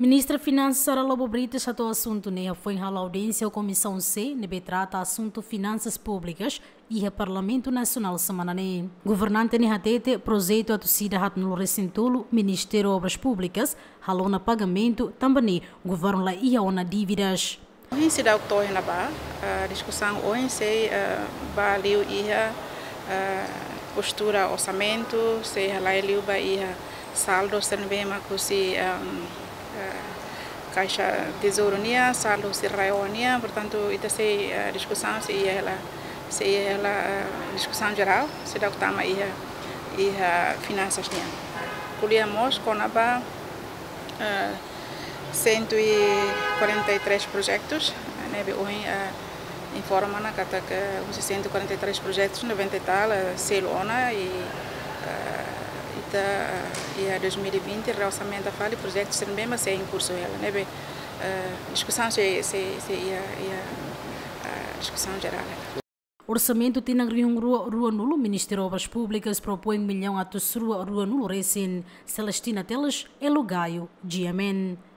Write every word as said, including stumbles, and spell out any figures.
Ministra Finansas Sara Lobo Brites hato'o asuntu ne'e iha foin halo audiénsia ho Komisaun C ne'ebé trata asuntu finansas públikas iha Parlamentu Nasionál semana ne'e. Governante ne'e hatete projetu atu sida haatnulu resin tolu Ministériu Obras Públikas halo ona pagamentu, tanba ne'e governu la iha ona dívidas. Ohin seidauk to'o iha ne'ebá, ah, diskusaun ohin sei, ah, ba liu iha, ah, postura orsamentu, sei halai liu ba iha saldu sira ne'ebé mak husi, ah, ah, Kaixa Tezouru nian, saldu husi RAEOA nian, portantu, ita sei, ah, diskusaun sei iha hela, sei iha hela, ah, diskusaun jerál, seidauk tama iha, iha finansas nian. Ko'alia mós kona-ba, ah, cento e quarenta e três projetus, ne'ebé ohin, ah, informa ona katak husi cento e quarenta e três projetus, noventa e tal, ah, selu ona i, ah, ita, ah, iha dois mil e vinte reorsamentu fali projetus sira ne'ebé mak sei em curso hela, ne'ebé, ah, diskusaun sei, sei, sei iha, iha, ah, diskusaun jerál hela. Orsamentu tinan rihun rua ruanulu, Ministériu Obras Públikas propoin millaun atus rua ruanulu resin. Celestina Teles, Elo Gaio, G M N.